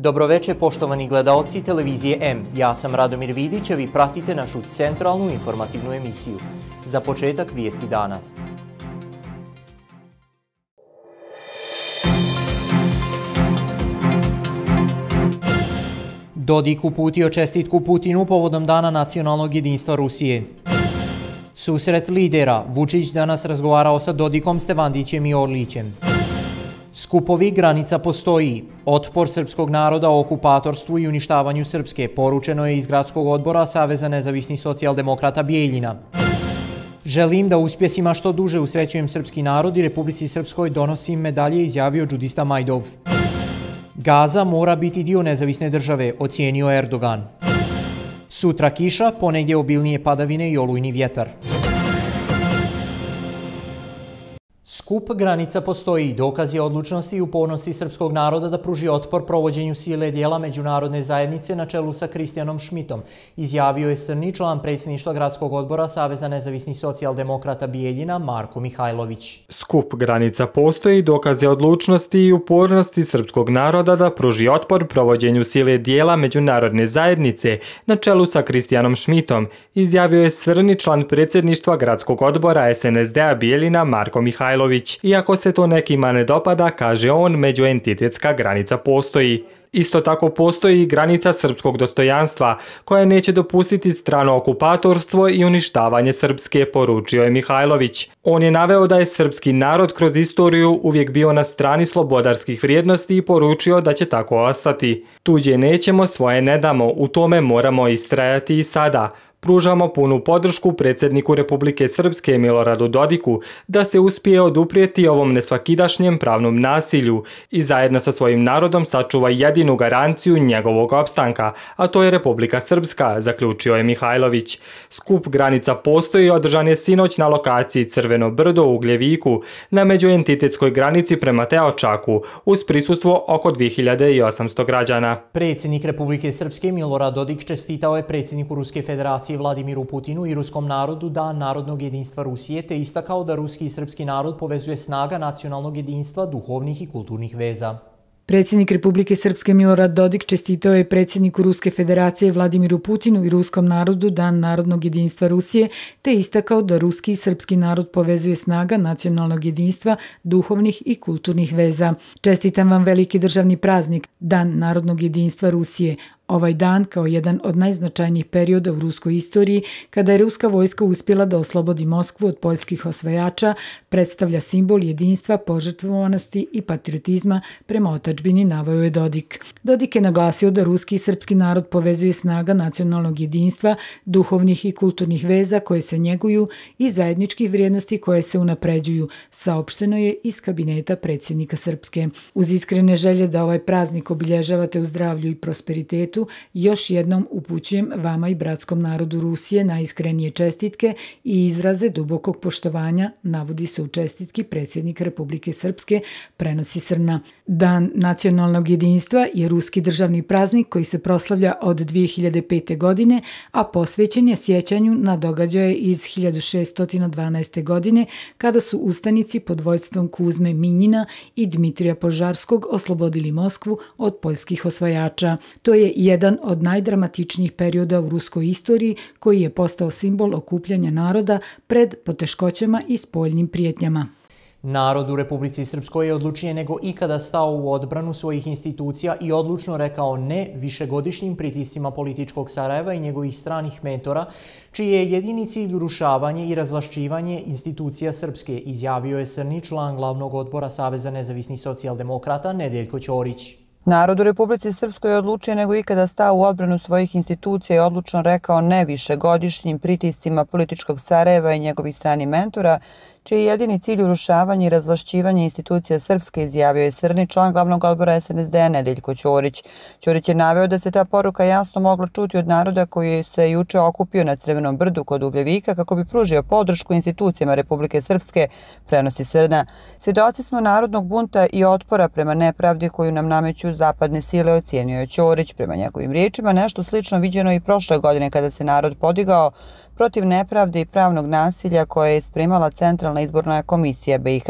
Dobroveče poštovani gledaoci televizije M. Ja sam Radomir Vidić, a vi pratite našu centralnu informativnu emisiju. Za početak vijesti dana. Dodik uputio čestitku Putinu povodom Dana nacionalnog jedinstva Rusije. Susret lidera. Vučić danas razgovarao sa Dodikom, Stevandićem i Orlićem. Skupovi granica postoji. Otpor srpskog naroda o okupatorstvu i uništavanju Srpske poručeno je iz gradskog odbora Saveza nezavisnih socijaldemokrata Bijeljina. Želim da uspjesima što duže usrećujem srpski narod i Republici Srpskoj donosim medalje, izjavio džudista Majdov. Gaza mora biti dio nezavisne države, ocijenio Erdogan. Sutra kiša, ponegdje obilnije padavine i olujni vjetar. Skup granica postoji. Dokaz je odlučnosti i upornosti srpskog naroda da pruži otpor provođenju sile dijela međunarodne zajednice na čelu sa Kristijanom Šmitom, izjavio je Srni, član predsjedništva gradskog odbora Saveza nezavisnih socijaldemokrata Bijeljina Marko Mihajlović. Skup granica postoji. Dokaz je odlučnosti i upornosti srpskog naroda da pruži otpor provođenju sile dijela međunarodne zajednice na čelu sa Kristijanom Šmitom, izjavio je Srni, član predsjedništva gradskog odbora SNSD-a Bijeljina Marko Mihajlović. Iako se to nekima ne dopada, kaže on, međuentitetska granica postoji. Isto tako postoji i granica srpskog dostojanstva, koja neće dopustiti strano okupatorstvo i uništavanje Srpske, poručio je Mihajlović. On je naveo da je srpski narod kroz istoriju uvijek bio na strani slobodarskih vrijednosti i poručio da će tako ostati. Tuđe nećemo, svoje ne damo, u tome moramo istrajati i sada. Pružamo punu podršku predsjedniku Republike Srpske Miloradu Dodiku da se uspije oduprijeti ovom nesvakidašnjem pravnom nasilju i zajedno sa svojim narodom sačuva jedinu garanciju njegovog opstanka, a to je Republika Srpska, zaključio je Mihajlović. Skup granica postoji održan je sinoć na lokaciji Crveno brdo u Ugljeviku, na međuentitetskoj granici prema Teočaku, uz prisustvo oko 2800 građana. Predsjednik Republike Srpske Milorad Dodik čestitao je predsjedniku Ruske federacije Vladimiru Putinu i ruskom narodu Dan narodnog jedinstva Rusije, te istakao da ruski i srpski narod povezuje snaga nacionalnog jedinstva, duhovnih i kulturnih veza. Predsjednik Republike Srpske Milorad Dodik čestitao je predsjedniku Ruske federacije Vladimiru Putinu i ruskom narodu Dan narodnog jedinstva Rusije, te istakao da ruski i srpski narod povezuje snaga nacionalnog jedinstva, duhovnih i kulturnih veza. Čestitam vam veliki državni praznik, Dan narodnog jedinstva Rusije. Ovaj dan, kao jedan od najznačajnijih perioda u ruskoj istoriji, kada je ruska vojska uspjela da oslobodi Moskvu od poljskih osvajača, predstavlja simbol jedinstva, požrtvovanosti i patriotizma prema otadžbini, naveo je Dodik. Dodik je naglasio da ruski i srpski narod povezuje snaga nacionalnog jedinstva, duhovnih i kulturnih veza koje se njeguju i zajedničkih vrijednosti koje se unapređuju, saopšteno je iz kabineta predsjednika Srpske. Uz iskrene želje da ovaj praznik obilježavate u zdravlju i prosperitetu, još jednom upućujem vama i bratskom narodu Rusije najiskrenije čestitke i izraze dubokog poštovanja, navodi se u čestitki predsjednik Republike Srpske, prenosi Srna. Dan nacionalnog jedinstva je ruski državni praznik koji se proslavlja od 2005. godine, a posvećen je sjećanju na događaje iz 1612. godine, kada su ustanici pod vođstvom Kuzme Minjina i Dmitrija Požarskog oslobodili Moskvu od poljskih osvajača. To je jedan od najdramatičnijih perioda u ruskoj istoriji koji je postao simbol okupljanja naroda pred poteškoćama i spoljnim prijetnjama. Narod u Republici Srpskoj je odlučnije nego ikada stao u odbranu svojih institucija i odlučno rekao ne višegodišnjim pritiscima političkog Sarajeva i njegovih stranih mentora, čiji je jedini cilj urušavanje i razvlašćivanje institucija Srpske, izjavio je Srni, član glavnog odbora Saveza nezavisnih socijaldemokrata Nedeljko Ćorić. Narod u Republici Srpskoj je odlučio nego ikada stao u odbranu svojih institucija i odlučno rekao ne višegodišnjim pritiscima političkog Sarajeva i njegovih stranih mentora, čiji je jedini cilj urušavanje i razvlašćivanje institucija Srpske, izjavio je Srni, član glavnog odbora SNSD-a Nedeljko Ćorić. Ćorić je naveo da se ta poruka jasno mogla čuti od naroda koji se juče okupio na Crvenom brdu kod Ugljevika kako bi pružio podršku institucijama Republike Srpske, prenosi Srna. Svjedoci smo narodnog bunta i otpora prema nepravdi koju nam nameću zapadne sile, ocijenio je Ćorić. Prema njegovim riječima, nešto slično viđeno i prošle godine kada se narod podigao protiv nepravde i pravnog nasilja koje je spremala Centralna izborna komisija BiH.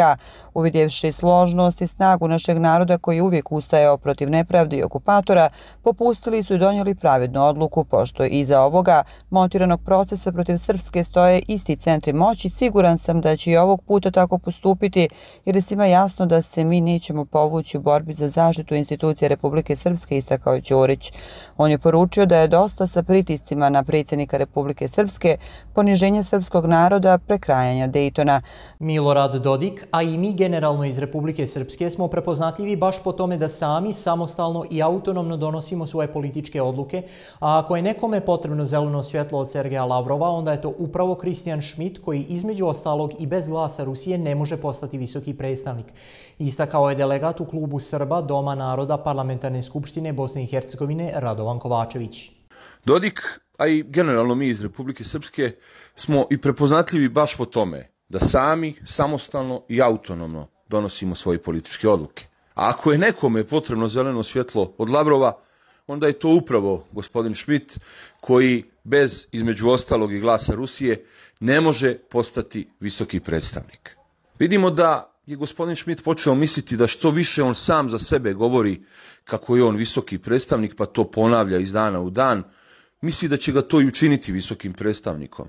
Uvidjevši složnost i snagu našeg naroda koji uvijek ustajao protiv nepravde i okupatora, popustili su i donijeli pravednu odluku, pošto iza ovoga montiranog procesa protiv Srpske stoje isti centri moći. Siguran sam da će i ovog puta tako postupiti, jer je svima jasno da se mi nećemo povući u borbi za zaštitu institucija Republike Srpske, istakao Ćorić. On je poručio da je dosta sa pritiscima na predsjednika Republike Srpske, poniženje srpskog naroda, prekrajanja Dejtona. Milorad Dodik, a i mi generalno iz Republike Srpske smo prepoznatljivi baš po tome da sami samostalno i autonomno donosimo svoje političke odluke, a ako je nekome potrebno zeleno svjetlo od Sergeja Lavrova, onda je to upravo Christian Schmidt, koji između ostalog i bez glasa Rusije ne može postati visoki predstavnik. Istakao je delegat u klubu Srba Doma naroda Parlamentarne skupštine Bosne i Hercegovine Radovan Kovačević. Dodik, a i generalno mi iz Republike Srpske, smo i prepoznatljivi baš po tome da sami, samostalno i autonomno donosimo svoje političke odluke. A ako je nekome potrebno zeleno svjetlo od Lavrova, onda je to upravo gospodin Schmidt, koji bez, između ostalog i glasa Rusije, ne može postati visoki predstavnik. Vidimo da je gospodin Schmidt počeo misliti da što više on sam za sebe govori kako je on visoki predstavnik, pa to ponavlja iz dana u dan, misli da će ga to i učiniti visokim predstavnikom.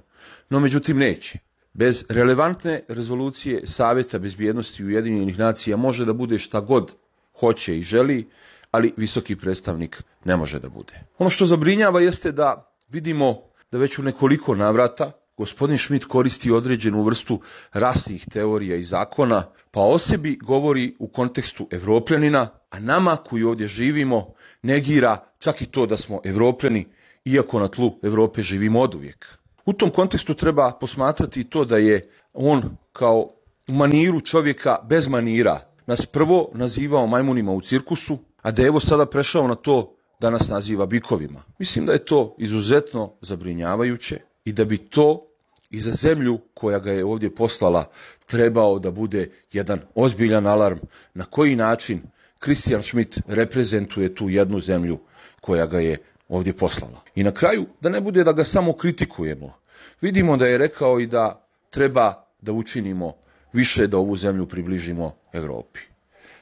No, međutim, neće. Bez relevantne rezolucije Savjeta bezbjednosti Ujedinjenih nacija može da bude šta god hoće i želi, ali visoki predstavnik ne može da bude. Ono što zabrinjava jeste da vidimo da već u nekoliko navrata gospodin Schmidt koristi određenu vrstu rasnih teorija i zakona, pa o sebi govori u kontekstu Evropljanina, a nama koji ovdje živimo negira čak i to da smo Evropljani, iako na tlu Evrope živimo oduvijek. U tom kontekstu treba posmatrati to da je on kao u maniru čovjeka bez manira nas prvo nazivao majmunima u cirkusu, a da je evo sada prešao na to da nas naziva bikovima. Mislim da je to izuzetno zabrinjavajuće i da bi to i za zemlju koja ga je ovdje poslala trebao da bude jedan ozbiljan alarm na koji način Christian Schmidt reprezentuje tu jednu zemlju koja ga je ovdje poslala. I na kraju, da ne bude da ga samo kritikujemo, vidimo da je rekao i da treba da učinimo više da ovu zemlju približimo Evropi.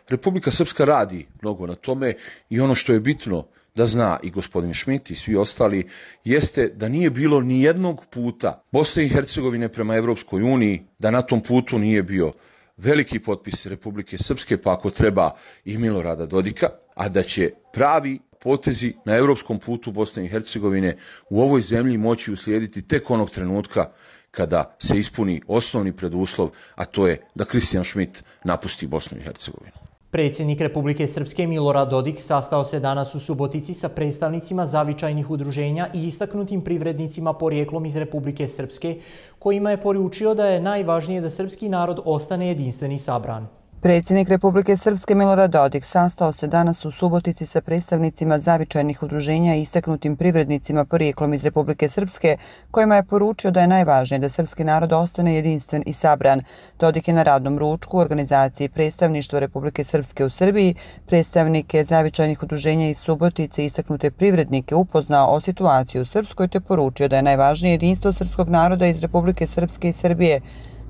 Republika Srpska radi mnogo na tome i ono što je bitno da zna i gospodin Schmidt i svi ostali jeste da nije bilo ni jednog puta Bosne i Hercegovine prema Evropskoj uniji, da na tom putu nije bio veliki potpis Republike Srpske, pa ako treba i Milorada Dodika, a da će pravi potezi na evropskom putu Bosne i Hercegovine u ovoj zemlji moći uslijediti tek onog trenutka kada se ispuni osnovni preduslov, a to je da Christian Schmidt napusti Bosnu i Hercegovinu. Predsjednik Republike Srpske Milorad Dodik sastao se danas u Subotici sa predstavnicima zavičajnih udruženja i istaknutim privrednicima porijeklom iz Republike Srpske, kojima je poručio da je najvažnije da srpski narod ostane jedinstven i sabran. Predsjednik Republike Srpske Milorad Dodik sastao se danas u Subotici sa predstavnicima zavičajnih udruženja i istaknutim privrednicima porijeklom iz Republike Srpske, kojima je poručio da je najvažnije da srpski narod ostane jedinstven i sabran. Dodik je na radnom ručku u organizaciji Predstavništva Republike Srpske u Srbiji predstavnike zavičajnih udruženja iz Subotice i istaknute privrednike upoznao o situaciji u Srpskoj te poručio da je najvažnije jedinstvo srpskog naroda iz Republike Srpske i Srbije,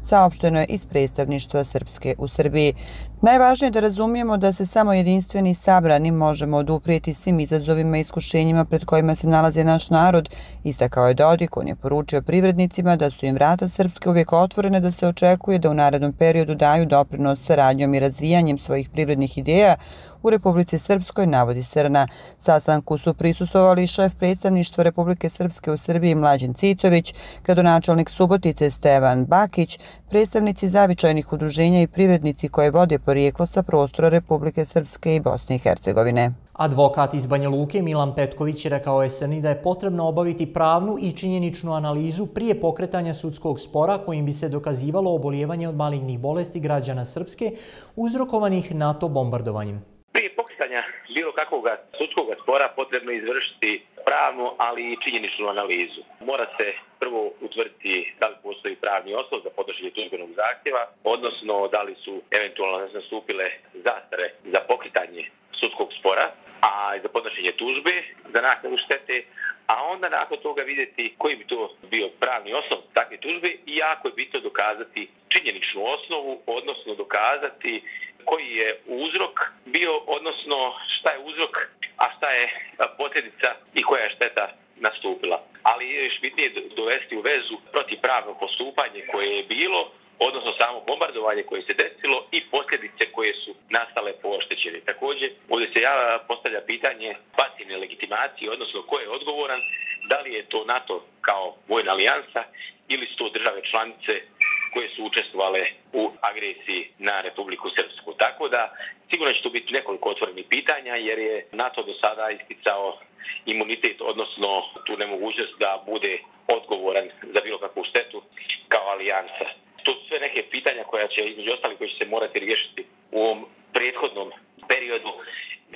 saopšteno je iz predstavništva Srpske u Srbiji. Najvažnije je da razumijemo da se samo jedinstveni i sabrani možemo oduprijeti svim izazovima i iskušenjima pred kojima se nalazi naš narod, istakao je Dodik. On je poručio privrednicima da su im vrata Srpske uvijek otvorene, da se očekuje da u narednom periodu daju doprinos saradnjom i razvijanjem svojih privrednih ideja u Republici Srpskoj, navodi se na sastanku su prisustvovali šef predstavništva Republike Srpske u Srbiji Mlađan Cicović, gradonačelnik Subotice Stevan Bakić, predstavnici zavičajnih udruženja i privrednici koje vode porijeklo sa prostora Republike Srpske i Bosne i Hercegovine. Advokat iz Banja Luke Milan Petković rekao je SRNI da je potrebno obaviti pravnu i činjeničnu analizu prije pokretanja sudskog spora kojim bi se dokazivalo obolijevanje od malignih bolesti građana Srpske uzrokovanih NATO bombardovanjem. Prije pokretanja bilo kakvog sudskog spora potrebno izvršiti pravnu, ali i činjeničnu analizu. Mora se prvo utvrditi da li postoji pravni osnov za podnošenje tužbenog zahtjeva, odnosno da li su eventualno nastupile zastare za pokretanje sudskog spora, a za podnošenje tužbe za naknadu štete, a onda nakon toga vidjeti koji bi to bio pravni osnov takve tužbe i jako je bitno dokazati činjeničnu osnovu, odnosno dokazati koji je uzrok bio, odnosno šta je uzrok, a šta je posljedica i koja je šteta nastupila. Ali je još bitnije dovesti u vezu protivpravno postupanje koje je bilo, odnosno samo bombardovanje koje se desilo i posljedice koje su nastale po oštećeni. Također, ovdje se postavlja pitanje pasivne legitimacije, odnosno ko je odgovoran, da li je to NATO kao vojna alijansa ili su to države članice koje su učestvovale u agresiji na Republiku Srpsku. Tako da sigurno će tu biti nekoliko otvorenih pitanja jer je NATO do sada isticao imunitet, odnosno tu nemogućnost da bude odgovoran za bilo kakvu štetu kao alijansa. To su sve neke pitanja koja će, između ostalih, koji će se morati riješiti u ovom prethodnom periodu,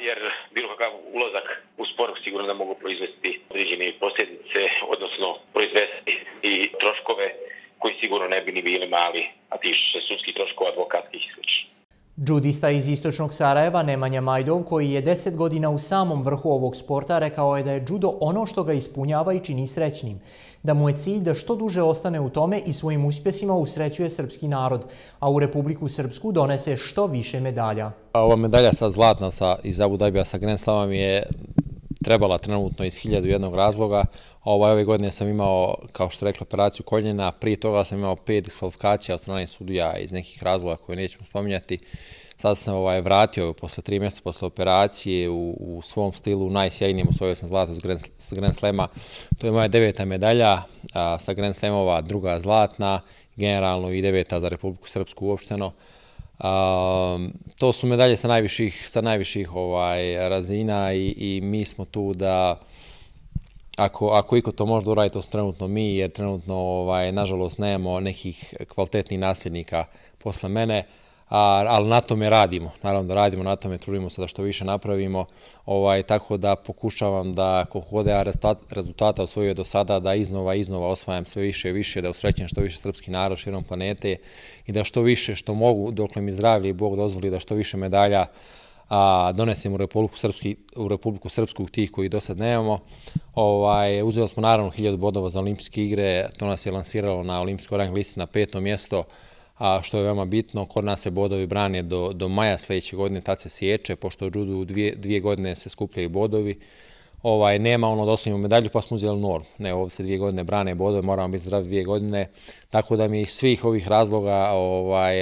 jer bilo kakav ulazak u spor sigurno da mogu proizvesti određene posljedice, odnosno proizvesti i troškove koji sigurno ne bi ni bili mali, a tiču se sudskih troškova, advokatskih i sl. Džudista iz istočnog Sarajeva Nemanja Majdov, koji je 10 godina u samom vrhu ovog sporta, rekao je da je džudo ono što ga ispunjava i čini srećnim. Da mu je cilj da što duže ostane u tome i svojim uspjesima usrećuje srpski narod, a u Republiku Srpsku donese što više medalja. Ova medalja sad zlatna iz Abu Dhabija sa Grand Slamom je trebala trenutno iz 1001 razloga. Ove godine sam imao, kao što rekla, operaciju koljena. Prije toga sam imao 5 diskvalifikacija od strane sudija iz nekih razloga koje nećemo spominjati. Sad sam vratio posle 3 mjeseca posle operacije u svom stilu, najsjajnijem, osvojio sam zlato s Grand Slema. To je moja 9. medalja sa Grand Slamova, 2. zlatna, generalno i 9. za Republiku Srpsku uopšteno. To su medalje sa najviših razina i mi smo tu da ako iko to može da uradi, to smo trenutno mi, jer trenutno nažalost nemamo nekih kvalitetnih nasljednika posle mene, ali na tome radimo. Naravno da radimo na tome, trudimo se da što više napravimo, tako da pokušavam da koliko god ja rezultata osvojio do sada, da iznova osvajam sve više i više, da usrećem što više srpski narod širom planete i da što više što mogu, dokle mi zdravlje i Bog dozvoli, da što više medalja donesem u Republiku Srpsku tih koji do sad nemamo. Uzeli smo naravno 1000 bodova za olimpijske igre, to nas je lansiralo na olimpijskoj rang listi na 5. mjesto, što je veoma bitno. Kod nas se bodovi brane do maja sljedeće godine, tad se sječe, pošto u judu 2 godine se skupljaju bodovi. Nema ono da osvojimo medalju, pa smo uzeli normu. Ne, ovdje se 2 godine brane bodovi, moramo biti zdravi 2 godine, tako da mi iz svih ovih razloga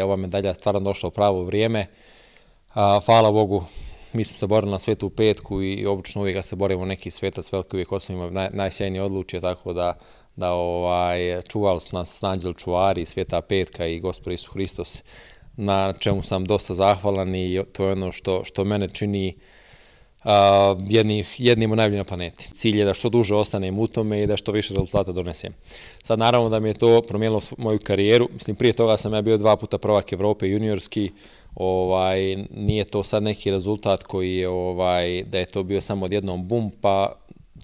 ova medalja stvarno došla u pravo vrijeme. Hvala Bogu, mi smo se borili na svetu petku i obično uvijek se borimo neki svetac veliki, uvijek osvojimo najsjajnije odlučje, tako da čuvali su nas anđeli čuvari, sveta petka i Gospod Isus Hristos, na čemu sam dosta zahvalan i to je ono što mene čini jednim od najboljih na planeti. Cilj je da što duže ostanem u tome i da što više rezultata donesem. Sad naravno da mi je to promijenilo moju karijeru. Mislim, prije toga sam ja bio 2 puta prvak Evrope juniorski. Nije to sad neki rezultat koji je, da je to bio samo odjednom bum,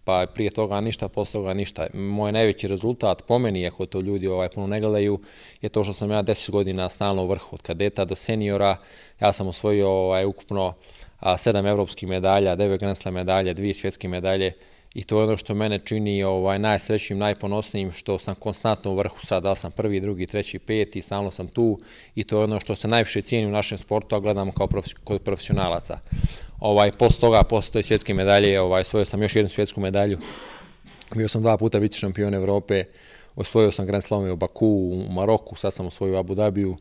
pa prije toga ništa, posle toga ništa. Moj najveći rezultat po meni, ako to ljudi puno ne gledaju, je to što sam ja 10 godina stalno u vrhu, od kadeta do seniora. Ja sam osvojio ukupno 7 evropskih medalja, 9 Grand Slam medalje, 2 svjetske medalje i to je ono što mene čini najsrećnijim, najponosnijim, što sam konstantno u vrhu sad, da sam 1., 2., 3., 5. i stalno sam tu i to je ono što se najviše cijeni u našem sportu, a gledamo kao kod profesionalaca. Posle toga, posle toj svjetske medalje, osvojio sam još jednu svjetsku medalju. Bio sam 2 puta vice šampion Evrope, osvojio sam Grand Slamove u Baku, u Maroku, sad sam osvojio u Abu Dhabiju.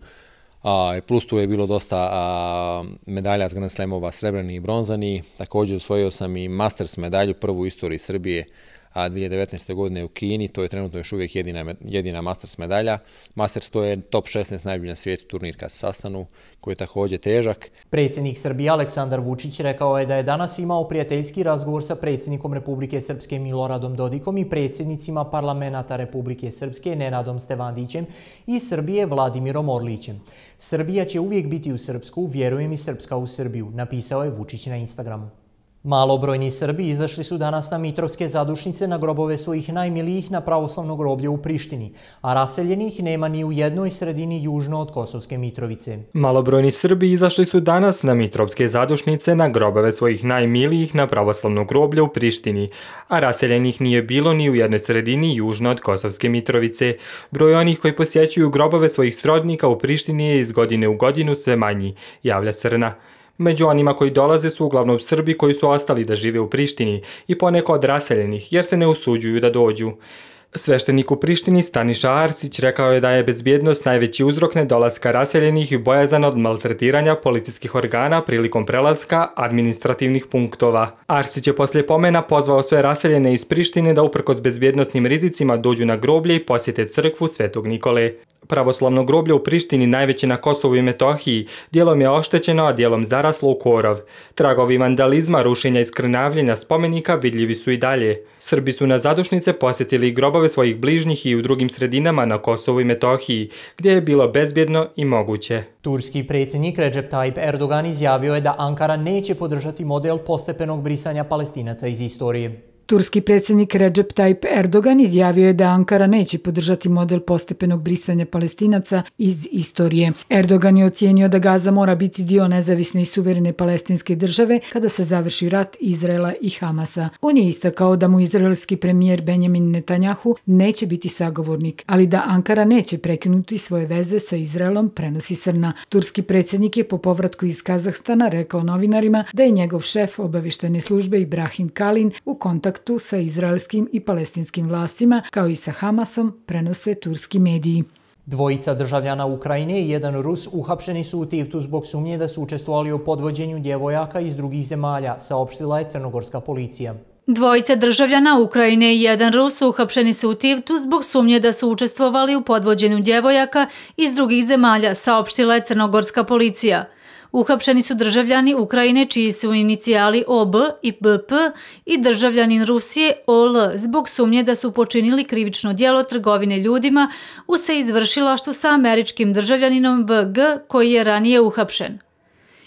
Plus tu je bilo dosta medalja s Grand Slamova, srebrni i bronzani. Također osvojio sam i Masters medalju, prvu u istoriji Srbije, 2019. godine u Kini. To je trenutno još uvijek jedina Masters medalja. Masters to je top 16 najbolji na svijetu turnir kad se sastanu, koji je također težak. Predsjednik Srbije Aleksandar Vučić rekao je da je danas imao prijateljski razgovor sa predsjednikom Republike Srpske Miloradom Dodikom i predsjednicima parlamenta Republike Srpske Nenadom Stevandićem i Srbije Vladimirom Orlićem. Srbija će uvijek biti u Srpsku, vjerujem i Srpska u Srbiju, napisao je Vučić na Instagramu. Malobrojni Srbi izašli su danas na Mitrovske zadušnice na grobove svojih najmilijih na pravoslavno groblje u Prištini, a raseljenih nema ni u jednoj sredini južno od Kosovske Mitrovice. Malobrojni Srbi izašli su danas na Mitrovske zadušnice na grobove svojih najmilijih na pravoslavno groblje u Prištini, a raseljenih nije bilo ni u jednoj sredini južno od Kosovske Mitrovice. Broj onih koji posjećuju grobove svojih srodnika u Prištini je iz godine u godinu sve manji, javlja Srna. Među onima koji dolaze su uglavnom Srbi koji su ostali da žive u Prištini i poneko od raseljenih jer se ne usuđuju da dođu. Sveštenik u Prištini Staniša Arsić rekao je da je bezbjednost najveći uzrok nedolaska raseljenih i bojazan od maltretiranja policijskih organa prilikom prelaska administrativnih punktova. Arsić je poslije pomena pozvao sve raseljene iz Prištine da uprkos bezbjednostnim rizicima dođu na groblje i posjete crkvu Svetog Nikole. Pravoslavno groblje u Prištini, najveće na Kosovu i Metohiji, dijelom je oštećeno, a dijelom zaraslo u korov. Tragovi vandalizma, rušenja i skrnavljenja spomenika vidljivi su i dalje. Srbi su na zadušnice posjetili grobove svojih bližnjih i u drugim sredinama na Kosovu i Metohiji, gdje je bilo bezbjedno i moguće. Turski predsjednik Recep Tayyip Erdogan izjavio je da Ankara neće podržati model postepenog brisanja Palestinaca iz istorije. Turski predsjednik Recep Tayyip Erdogan izjavio je da Ankara neće podržati model postepenog brisanja Palestinaca iz istorije. Erdogan je ocijenio da Gaza mora biti dio nezavisne i suverene palestinske države kada se završi rat Izraela i Hamasa. On je istakao da mu izraelski premijer Benjamin Netanjahu neće biti sagovornik, ali da Ankara neće prekinuti svoje veze sa Izraelom, prenosi Srna. Turski predsjednik je po povratku iz Kazahstana rekao novinarima da je njegov šef obavještajne službe Ibrahim Kalin u kontaktu sa izraelskim i palestinskim vlastima, kao i sa Hamasom, prenose turski mediji. Dvojica državljana Ukrajine i jedan Rus uhapšeni su u Tivtu zbog sumnje da su učestvovali u podvođenju djevojaka iz drugih zemalja, saopštila je crnogorska policija. Dvojica državljana Ukrajine i jedan Rus uhapšeni su u Tivtu zbog sumnje da su učestvovali u podvođenju djevojaka iz drugih zemalja, saopštila je crnogorska policija. Uhapšeni su državljani Ukrajine čiji su inicijali OB i BP i državljanin Rusije OL zbog sumnje da su počinili krivično djelo trgovine ljudima u saizvršilaštvu sa američkim državljaninom VG koji je ranije uhapšen.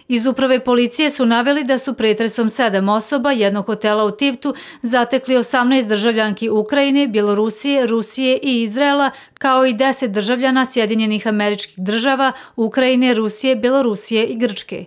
Iz uprave policije su naveli da su pretresom 7 osoba jednog hotela u Tivtu zatekli 18 državljanki Ukrajine, Bjelorusije, Rusije i Izraela, kao i 10 državljana Sjedinjenih Američkih Država, Ukrajine, Rusije, Bjelorusije i Grčke.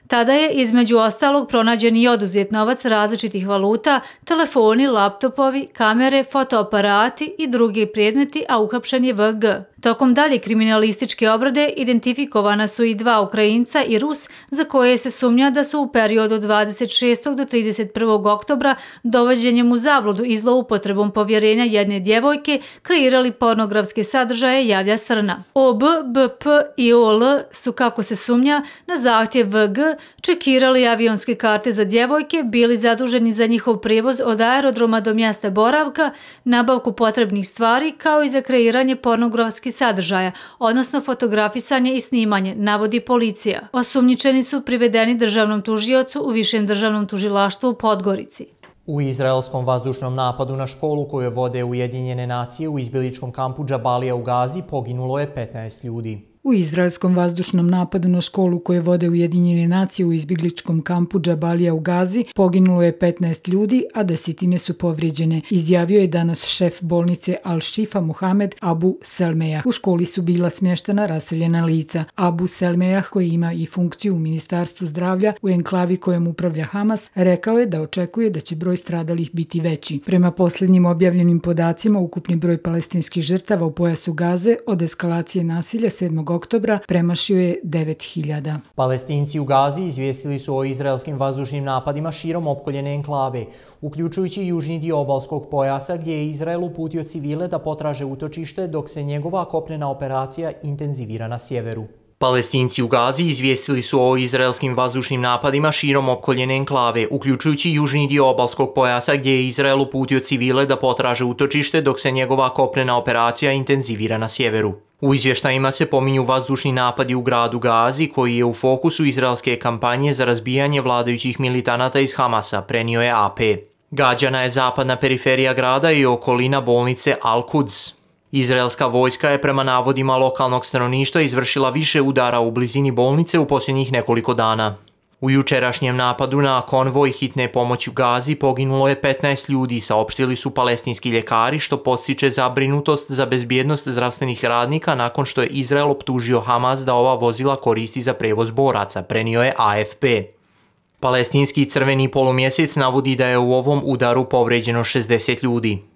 Tada je između ostalog pronađen i oduzet novac različitih valuta, telefoni, laptopovi, kamere, fotoaparati i drugi predmeti, a uhapšen je VG. Tokom dalje kriminalističke obrade identifikovana su i 2 Ukrajinca i Rus za koje se sumnja da su u periodu 26. do 31. oktobra dovođenjem u zabludu i zloupotrebom povjerenja jedne djevojke kreirali pornografske sadržaje, javlja Srna. OB, BP i OL su, kako se sumnja, na zahtjev VG čekirali avionske karte za djevojke, bili zaduženi za njihov prijevoz od aerodroma do mjesta boravka, nabavku potrebnih stvari, kao i za kreiranje pornografskih sadržaja, odnosno fotografisanje i snimanje, navodi policija. Osumnjičeni su privedeni državnom tužiocu u Višem državnom tužilaštvu u Podgorici. U izraelskom vazdušnom napadu na školu koju vode Ujedinjene nacije u izbjegličkom kampu Džabalija u Gazi poginulo je 15 ljudi. U izraelskom vazdušnom napadu na školu koje vode Ujedinjene nacije u izbjegličkom kampu Džabalija u Gazi poginulo je 15 ljudi, a desetine su povrijeđene, izjavio je danas šef bolnice Al-Shifa Muhamed Abu Selmejah. U školi su bila smještena raseljena lica. Abu Selmejah, koji ima i funkciju u Ministarstvu zdravlja u enklavi kojom upravlja Hamas, rekao je da očekuje da će broj stradalih biti veći. Prema posljednjim objavljenim podacima, ukupni broj palestinskih žrtava u pojasu Gaze od eskalacije nasilja 7. oktobra premašio je 9.000. Palestinci u Gazi izvijestili su o izraelskim vazdušnim napadima širom opkoljene enklave, uključujući južni dio obalskog pojasa gdje je Izrael uputio civile da potraže utočište dok se njegova kopnena operacija intenzivira na sjeveru. Palestinci u Gazi izvijestili su o izraelskim vazdušnim napadima širom opkoljene enklave, uključujući južni dio obalskog pojasa gdje je Izrael uputio civile da potraže utočište dok se njegova kopnena operacija intenzivira na sjeveru. U izvještajima se pominju vazdušni napadi u gradu Gazi, koji je u fokusu izraelske kampanje za razbijanje vladajućih militanata iz Hamasa, prenio je AP. Gađana je zapadna periferija grada i okolina bolnice Al-Quds. Izraelska vojska je prema navodima lokalnog stanovništva izvršila više udara u blizini bolnice u posljednjih nekoliko dana. U jučerašnjem napadu na konvoj hitne pomoći u Gazi poginulo je 15 ljudi, saopštili su palestinski ljekari, što podstiče zabrinutost za bezbjednost zdravstvenih radnika nakon što je Izrael optužio Hamas da ova vozila koristi za prevoz boraca, prenio je AFP. Palestinski crveni polumjesec navodi da je u ovom udaru povređeno 60 ljudi.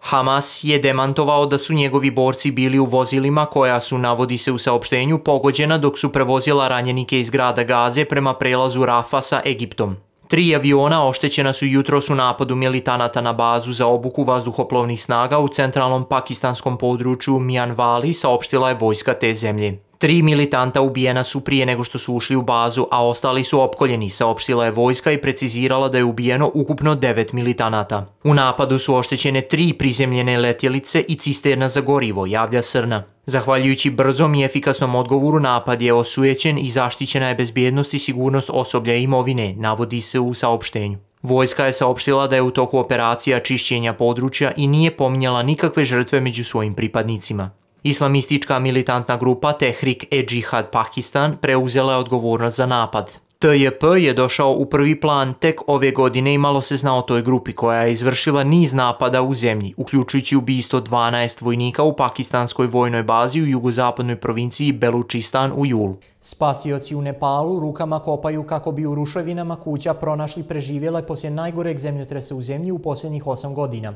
Hamas je demantovao da su njegovi borci bili u vozilima koja su, navodi se u saopštenju, pogođena dok su prevozila ranjenike iz grada Gaze prema prelazu Rafa sa Egiptom. 3 aviona oštećena su jutros u napadu militanata na bazu za obuku vazduhoplovnih snaga u centralnom pakistanskom području Mianwali, saopštila je vojska te zemlje. 3 militanta ubijena su prije nego što su ušli u bazu, a ostali su opkoljeni, saopštila je vojska i precizirala da je ubijeno ukupno 9 militanata. U napadu su oštećene 3 prizemljene letjelice i cisterna za gorivo, javlja SRNA. Zahvaljujući brzom i efikasnom odgovoru, napad je osujećen i zaštićena je bezbjednost i sigurnost osoblja i imovine, navodi se u saopštenju. Vojska je saopštila da je u toku operacija čišćenja područja i nije pominjala nikakve žrtve među svojim pripadnicima. Islamistička militantna grupa Tehrik-e-Džihad Pakistan preuzela je odgovornost za napad. TJP je došao u prvi plan tek ove godine i malo se zna o toj grupi koja je izvršila niz napada u zemlji, uključujući ubistvo 12 vojnika u pakistanskoj vojnoj bazi u jugozapadnoj provinciji Belučistan u julu. Spasioci u Nepalu rukama kopaju kako bi u ruševinama kuća pronašli preživjele poslije najgoreg zemljotresa u zemlji u posljednjih 8 godina,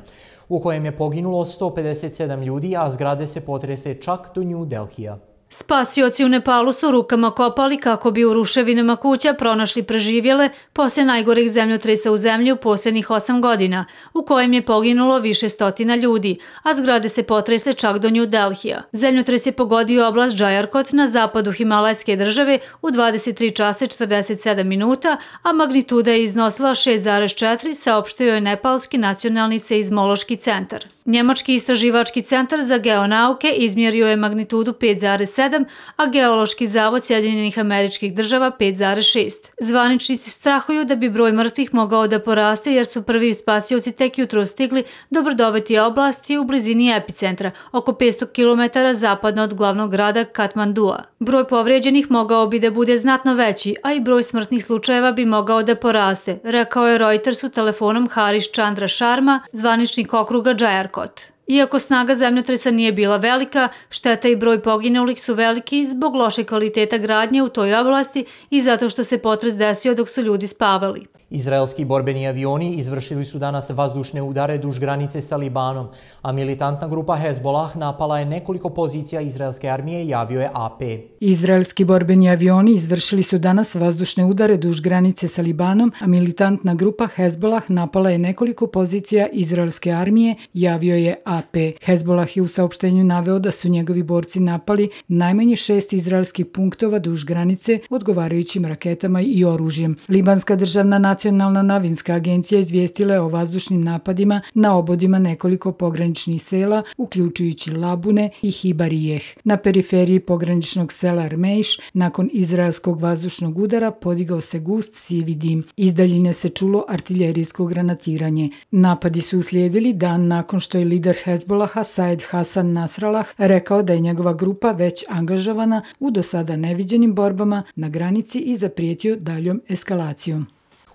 u kojem je poginulo 157 ljudi, a zgrade se potrese čak do New Delhija. Spasioci u Nepalu su rukama kopali kako bi u ruševinama kuća pronašli preživjele poslije najgoreg zemljotresa u zemlji u posljednjih 8 godina, u kojem je poginulo više stotina ljudi, a zgrade se potresle čak do New Delhija. Zemljotres je pogodio oblast Džajarkot na zapadu Himalajske države u 23 časa i 47 minuta, a magnituda je iznosila 6,4, saopštio je Nepalski nacionalni seizmološki centar. Njemački istraživački centar za geonauke izmjerio je magnitudu 5,7, a Geološki zavod Sjedinjenih Američkih Država 5,6. Zvaničnici strahuju da bi broj mrtvih mogao da poraste jer su prvi spasioci tek jutro stigli do brdovite oblasti u blizini epicentra, oko 500 km zapadno od glavnog grada Katmandua. Broj povrijeđenih mogao bi da bude znatno veći, a i broj smrtnih slučajeva bi mogao da poraste, rekao je Reutersu telefonom Harish Chandra Sharma, zvaničnik okruga Džajarkot. Iako snaga zemljotresa nije bila velika, šteta i broj poginulih su veliki zbog loše kvaliteta gradnje u toj oblasti i zato što se potres desio dok su ljudi spavali. Izraelski borbeni avioni izvršili su danas vazdušne udare duž granice sa Libanom, a militantna grupa Hezbollah napala je nekoliko pozicija izraelske armije, javio je AP. Izraelski borbeni avioni izvršili su danas vazdušne udare duž granice sa Libanom, a militantna grupa Hezbollah napala je nekoliko pozicija izraelske armije, javio je AP. Hezbollah je u saopštenju naveo da su njegovi borci napali najmanje 6 izraelskih punktova duž granice odgovarajućim raketama i oružjem. Libanska državna Nacionalna novinska agencija izvijestila je o vazdušnim napadima na obodima nekoliko pograničnih sela, uključujući Labune i Hibarijeh. Na periferiji pograničnog sela Armejš, nakon izraelskog vazdušnog udara, podigao se gust sivi dim. Iz daljine se čulo artiljerijsko granatiranje. Napadi su uslijedili dan nakon što je lider Hezbollaha Said Hasan Nasrallah rekao da je njegova grupa već angažovana u do sada neviđenim borbama na granici i zaprijetio daljom eskalacijom.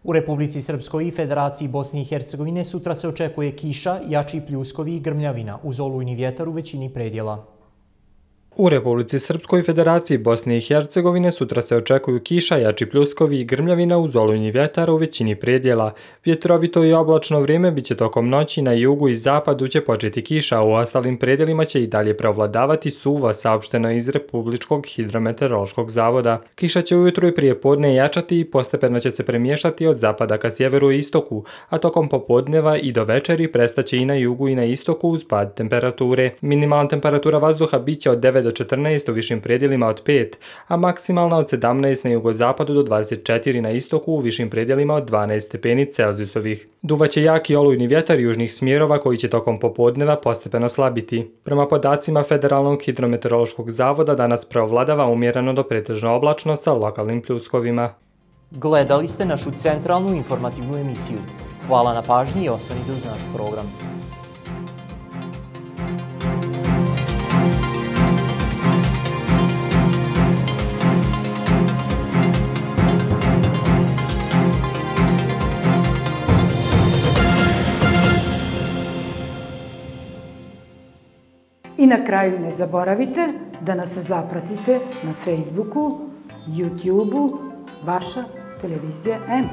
U Republici Srpskoj i Federaciji Bosne i Hercegovine sutra se očekuje kiša, jači pljuskovi i grmljavina uz olujni vjetar u većini predjela. U Republici Srpskoj i Federaciji Bosne i Hercegovine sutra se očekuju kiša, jači pljuskovi i grmljavina uz olujni vjetar u većini predjela. Vjetrovito i oblačno vrijeme biće tokom noći, na jugu i zapadu će početi kiša, a u ostalim predjelima će i dalje preovladavati suvo, saopšteno iz Republičkog hidrometeorološkog zavoda. Kiša će ujutro i prije podne jačati i postepeno će se premiješati od zapada ka sjeveru i istoku, a tokom popodneva i do večeri prestaće i na jugu i na istoku uz pad temperature. Minimalna temperatura vazduha biće od 9 do 14 u višim predjelima od 5, a maksimalna od 17 na jugozapadu do 24 na istoku u višim predjelima od 12 stepeni Celzijusovih. Duvaće jaki olujni vjetar južnih smjerova koji će tokom popodneva postepeno slabiti. Prema podacima Federalnog hidrometeorološkog zavoda danas preovladava umjereno do pretežno oblačno sa lokalnim pljuskovima. Gledali ste našu centralnu informativnu emisiju. Hvala na pažnji i ostanite uz naš program. I na kraju ne zaboravite da nas zapratite na Facebooku, YouTubeu, vaša televizija M.